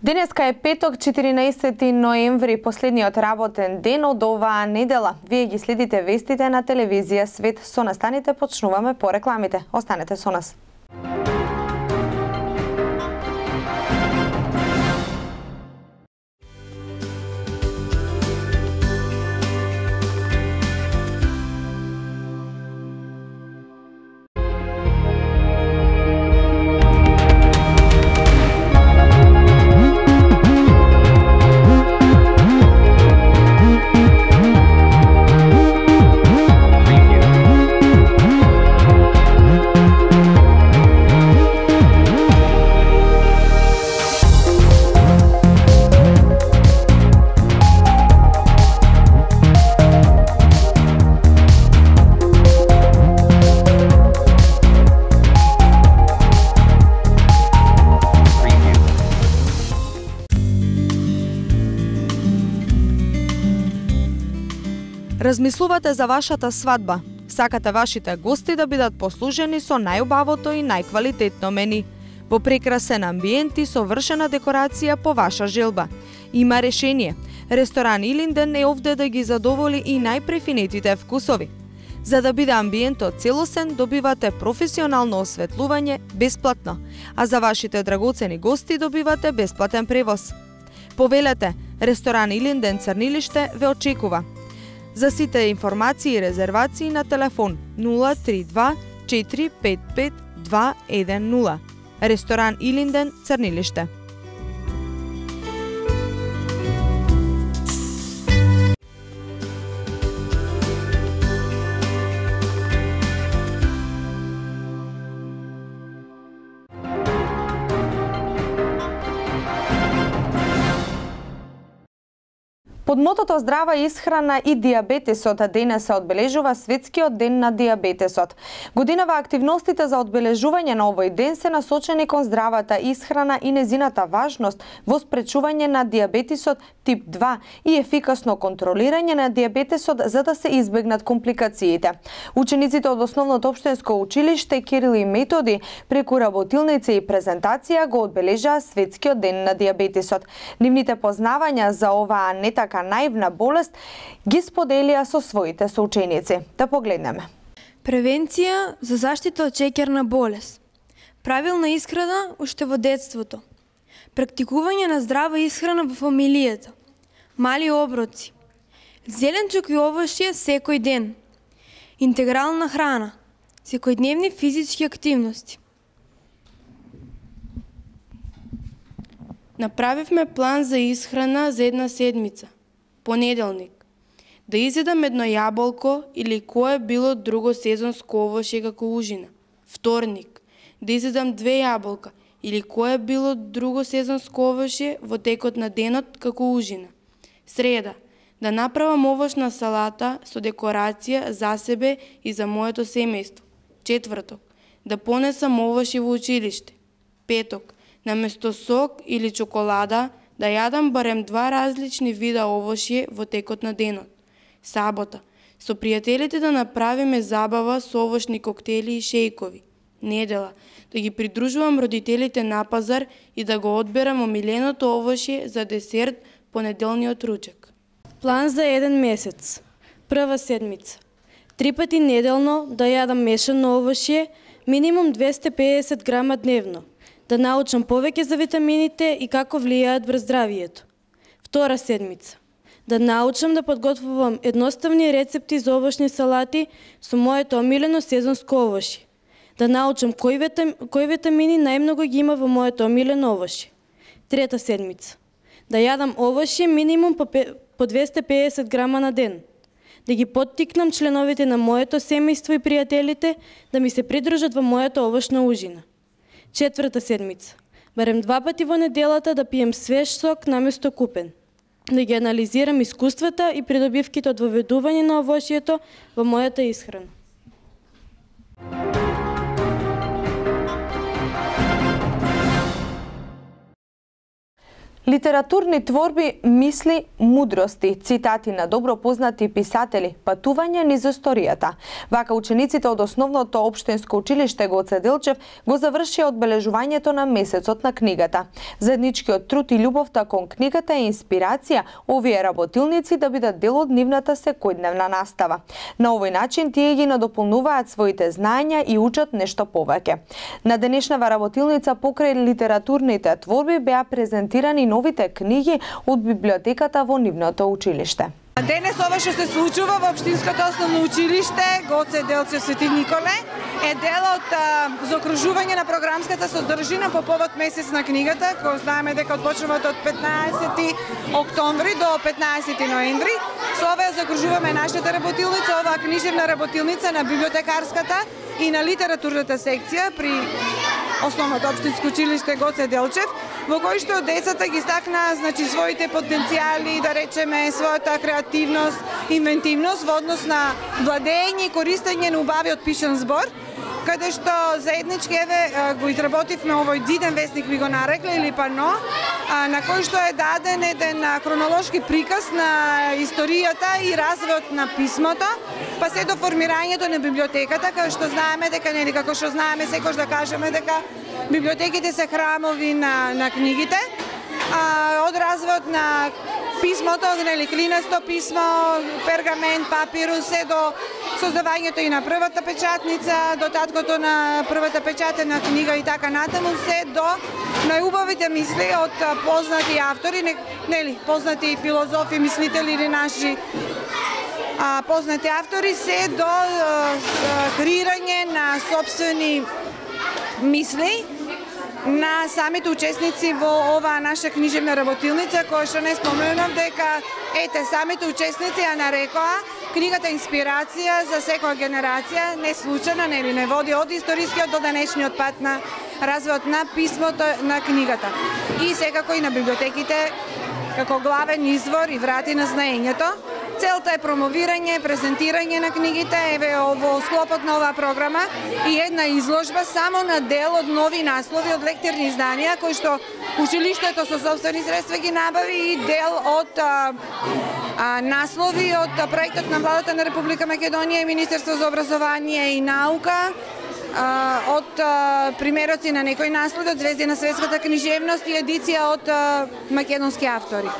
Денеска е петок, 14 ноември, последниот работен ден од оваа недела. Вие ги следите вестите на телевизија Свет. Со настаните почнуваме по рекламите. Останете со нас. Размислувате за вашата свадба. Сакате вашите гости да бидат послужени со најубавото и најквалитетно мени. Во прекрасен амбиент и совршена декорација по ваша желба. Има решение. Ресторан Илинден е овде да ги задоволи и најпрефинетите вкусови. За да биде амбиентот целосен, добивате професионално осветлување бесплатно, а за вашите драгоцени гости добивате бесплатен превоз. Повелете, ресторан Илинден Црнилиште ве очекува. За сите информации и резервации на телефон 032 455 210. Ресторан Илинден Црнилиште. Под мотото здрава исхрана и диабетесот денес се одбележува Светскиот ден на диабетесот. Годинава активностите за одбележување на овој ден се насочени кон здравата исхрана и незината важност во спречување на диабетесот тип 2 и ефикасно контролирање на диабетесот за да се избегнат компликациите. Учениците од Основното општинско училиште Кирил и Методи преку работилници и презентација го одбележаа Светскиот ден на диабетесот. Нивните познавања за оваа не така наивна болест ги споделија со своите соученици. Да погледнеме. Превенција за заштита од шеќерна болест. Правилна исхрана уште во детството. Практикување на здрава исхрана во фамилијата. Мали оброци. Зеленчук и овошје секој ден. Интегрална храна. Секојдневни физички активности. Направивме план за исхрана за една седмица. Понеделник. Да изедам едно јаболко или кое било друго сезонско овошје како ужина. Вторник. Да изедам 2 јаболка или кое било друго сезонско овошје во текот на денот како ужина. Среда. Да направам овошна салата со декорација за себе и за моето семејство. Четврток. Да понесам овошје во училиште. Петок. Наместо сок или чоколада, да јадам барем 2 различни вида овошје во текот на денот. Сабота. Со пријателите да направиме забава со овошни коктели и шејкови. Недела. Да ги придружувам родителите на пазар и да го одберам омиленото овошје за десерт понеделниот ручек. План за еден месец. Прва седмица. 3 пати неделно да јадам мешано овошје, минимум 250 грама дневно. Да научам повеќе за витамините и како влијаат врз здравието. Втора седмица. Да научам да подготвувам едноставни рецепти за овошни салати со моето омилено сезонско овошје. Да научам кои витамини најмногу ги има во моето омилено овошје. Трета седмица. Да јадам овошје минимум по 250 грама на ден. Да ги поттикнам членовите на моето семејство и пријателите да ми се придружат во мојата овошна ужина. Четврта седмица. Барем 2 пати во неделата да пием свеж сок наместо купен. Да ги анализирам искуствата и придобивките од воведување на овошјето во мојата исхрана. Литературни творби, мисли, мудрости, цитати на добро познати писатели, патување низ историјата. Вака учениците од основното општинско училиште Гоце Делчев го завршија одбележувањето на месецот на книгата. Заедничкиот труд и љубовта кон книгата е инспирација овие работилници да бидат дел од нивната секојдневна настава. На овој начин тие ги надополнуваат своите знаења и учат нешто повеќе. На денешнава работилница покрај литературните творби беа презентирани новите книги од библиотеката во нивното училиште. Денес ова што се случува во Општинското основно училиште Гоце Делчев Свети Николе е дел од заокружување на програмската содржина по повод месец на книгата, кој знаеме дека отпочнува од 15 октомври до 15 ноември. Со ова заокружуваме нашата работилница, оваа книжевна работилница на библиотекарската и на литературната секција при Основното општинско училиште Гоце Делчев, во кој што децата ги стакна своите потенцијали, да речеме својата креативност, инвентивност во однос на владење и користење на убавиот пишан збор, каде што заеднички го изработивме овој диден весник, ми го нарекле, или пано, на кој што е даден еден хронолошки приказ на историјата и развојот на писмото, па се до формирањето на библиотеката, како што знаеме дека како што знаеме секојаш да кажеме дека библиотеките се храмови на книгите, од развојот на писмото, клинесто писмо, пергамент, папирус, се до создавањето и на првата печатница, до таткото на првата печатена книга и така натаму, се до најубавите мисли од познати автори, познати филозофи, мислители или наши познати автори, се до креирање на собствени мисли на самите учесници во оваа наша книжевна работилница, која што не споменав дека самите учесници ја нарекоа книгата инспирација за секоја генерација, не случајно, не води од историскиот до денешниот пат на развојот на писмото на книгата. И секако и на библиотеките како главен извор и врати на знаењето. Целта е промовирање, презентирање на книгите, во склопот на оваа програма и една изложба само на дел од нови наслови од лектирни изданија, кои што училиштето со собствени средства ги набави, и дел од наслови од проектот на Владата на Република Македонија и Министерство за образование и наука, од примероци на некои наслови од звезди на светската книжевност и едиција од македонски автори.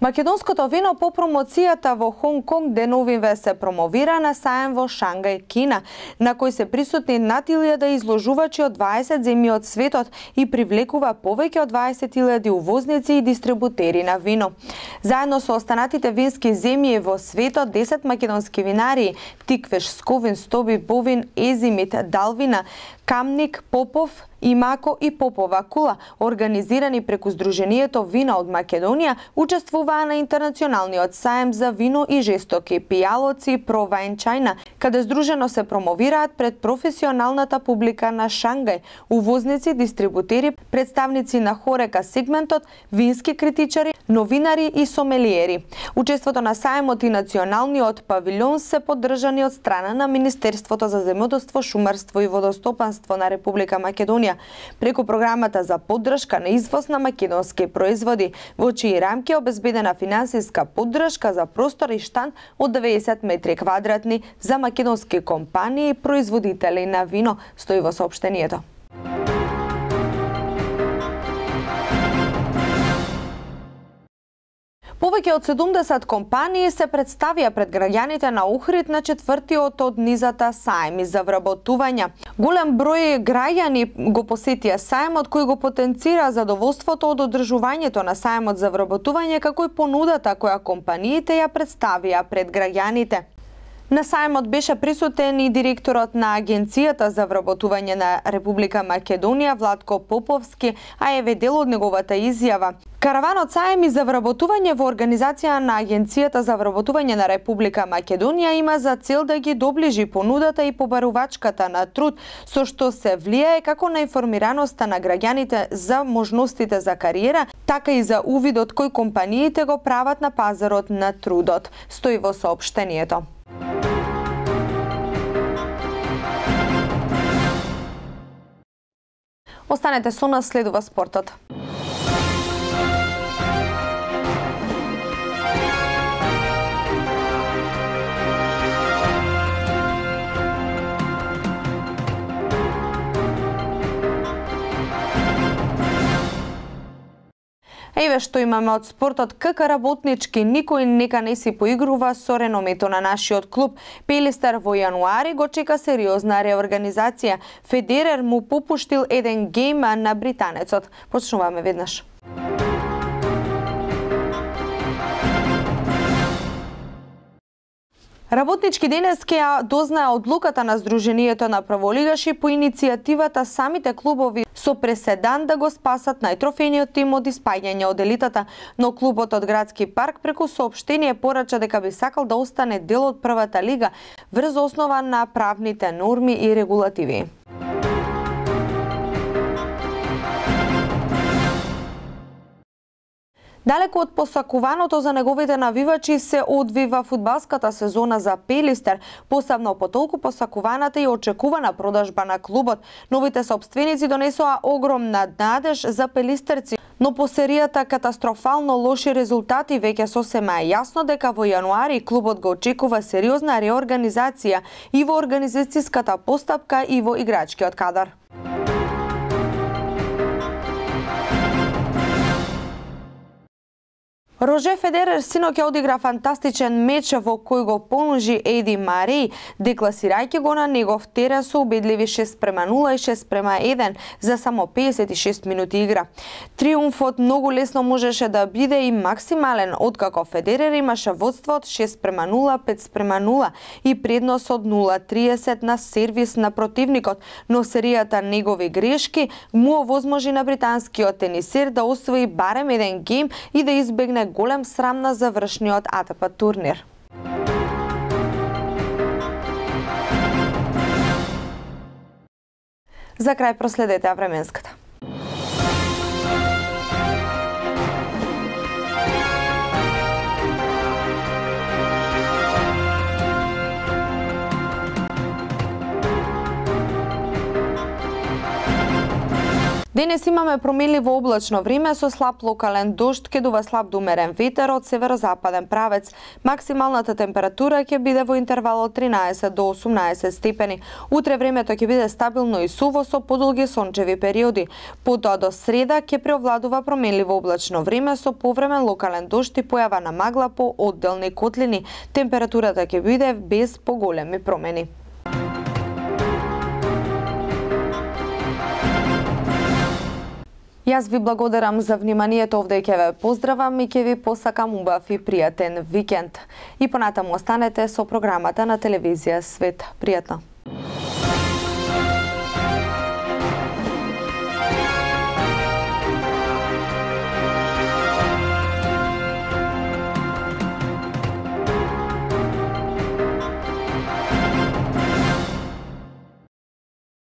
Македонското вино по промоцијата во Хонг Конг деновиве се промовира на саем во Шангај, Кина, на кој се присутни над 1000 изложувачи од 20 земји од светот и привлекува повеќе од 20.000 увозници и дистрибутери на вино. Заедно со останатите вински земји во светот, 10 македонски винари, Тиквеш, Сковин, Стоби, Бовин, Езимит, Далвина, Камник, Попов, Имако и Попова Кула, организирани преку Сдруженијето Вина од Македонија, учествуваа на интернационалниот саем за вино и жестоки пијалоци Pro Wine China, каде здружено се промовираат пред професионалната публика на Шангај, увозници, дистрибутери, представници на хорека сегментот, вински критичари, новинари и сомелиери. Учеството на саемот и националниот павилјон се поддржани од страна на Министерството за земјоделство, шумарство и водостопанство на Република Македонија, преку програмата за поддршка на извоз на македонски производи, во чии рамки е обезбедена финансиска поддршка за простор и штанд од 90 метри квадратни за македонски компании и производители на вино, стои во соопштението. Повеќе од 70 компании се представија пред граѓаните на Охрид на 4-тиот од низата саеми за вработување. Голем број граѓани го посетија саемот, кој го потенцира задоволството од одржувањето на саемот за вработување, како и понудата која компаниите ја представија пред граѓаните. На саемот беше присутен и директорот на Агенцијата за вработување на Република Македонија Владко Поповски, а еве дел од неговата изјава. Караванот саеми за вработување во организација на Агенцијата за вработување на Република Македонија има за цел да ги доближи понудата и побарувачката на труд, со што се влијае како на информираноста на граѓаните за можностите за кариера, така и за увидот кој компаниите го прават на пазарот на трудот, стои во соопштението. Останете со нас, следува спортот. Еве што имаме од спортот. КК Работнички никој нека не си поигрува со реномето на нашиот клуб. Пелистер во јануари го чека сериозна реорганизација. Федерер му попуштил еден гейм на британецот. Почнуваме веднаш. Работнички денес ќе ја дознае одлуката на Сдруженијето на праволигаши по иницијативата самите клубови со преседан да го спасат најтрофениот тим од испаѓање од елитата, но клубот од Градски парк преку соопштение порача дека би сакал да остане дел од првата лига врз основа на правните норми и регулативи. Далеку од посакуваното за неговите навивачи се одвива фудбалската сезона за Пелистер, посебно по толку посакуваната и очекувана продажба на клубот. Новите сопственици донесоа огромна надеж за пелистерци, но по серијата катастрофално лоши резултати веќе сосема е јасно дека во јануари клубот го очекува сериозна реорганизација и во организацијската постапка и во играчкиот кадар. Роже Федерер синоќа одигра фантастичен меч во кој го понужи Еди Мари, декласирајќи го на негов терен со убедливи 6:0 и 6:1 за само 56 минути игра. Триумфот многу лесно можеше да биде и максимален, откако Федерер имаше водство од 6:0, 5:0 и предност од 0:30 на сервис на противникот, но серијата негови грешки му овозможи на британскиот тенисер да освои барем еден гейм и да избегне голем срам на завршниот АТП турнир. За крај проследете временската. Денес имаме променливо облачно време со слаб локален дожд, ќе дува слаб до умерен ветер од северозападен правец. Максималната температура ќе биде во интервал од 13 до 18 степени. Утре времето ќе биде стабилно и суво со подолги сончеви периоди. Потоа до среда ќе преовладува променливо облачно време со повремен локален дожд и појава на магла по одделни котлини. Температурата ќе биде без поголеми промени. Јас ви благодарам за вниманието овде, ќе ве поздравам и ќе ви посакам убав и пријатен викенд. И понатаму останете со програмата на телевизија Свет. Пријатно!